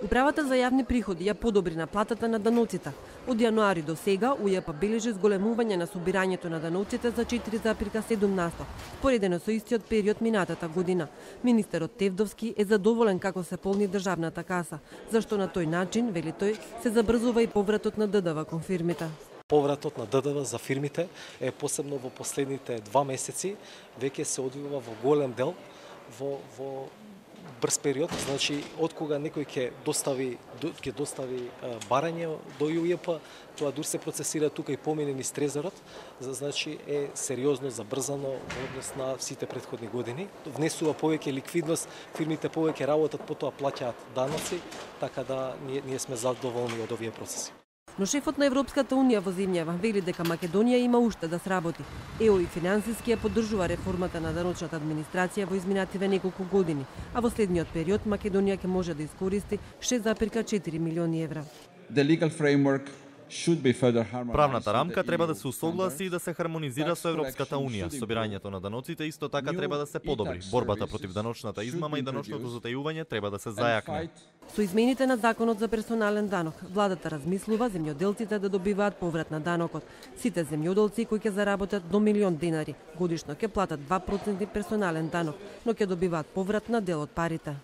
Управата за јавни приходи ја подобри наплатата на даноците. Од јануари до сега УЈП бележи зголемување на собирањето на даноците за 4,7%, споредено со истиот период минатата година. Министерот Тевдовски е задоволен како се полни државната каса, зашто на тој начин, вели тој, се забрзува и повратот на ДДВ кон фирмите. Повратот на ДДВ за фирмите е посебно во последните 2 месеци веќе се одвива во голем дел во брз период, значи од кога некој ќе достави барање до УЈП, тоа дур се процесира тука и помине низ трезорот, значи е сериозно забрзано во однос на сите претходни години. Внесува повеќе ликвидност, фирмите повеќе работат, потоа плаќаат даноци, така да ние сме задоволни од овие процеси. Но шефот на Европската унија во земјава вели дека Македонија има уште да сработи. ЕО и финансиски ја поддржува реформата на даночната администрација во изминативе неколку години, а во следниот период Македонија ќе може да искористи 6,4 милиони евра. Правната рамка треба да се усогласи и да се хармонизира со Европската унија. Собирањето на даноците исто така треба да се подобри. Борбата против даночната измама и даночното затајување треба да се зајакне. Со измените на законот за персонален данок, владата размислува земјоделците да добиваат поврат на данокот. Сите земјоделци кои ќе заработат до 1 милион денари годишно ќе платат 2% персонален данок, но ќе добиваат поврат на дел од парите.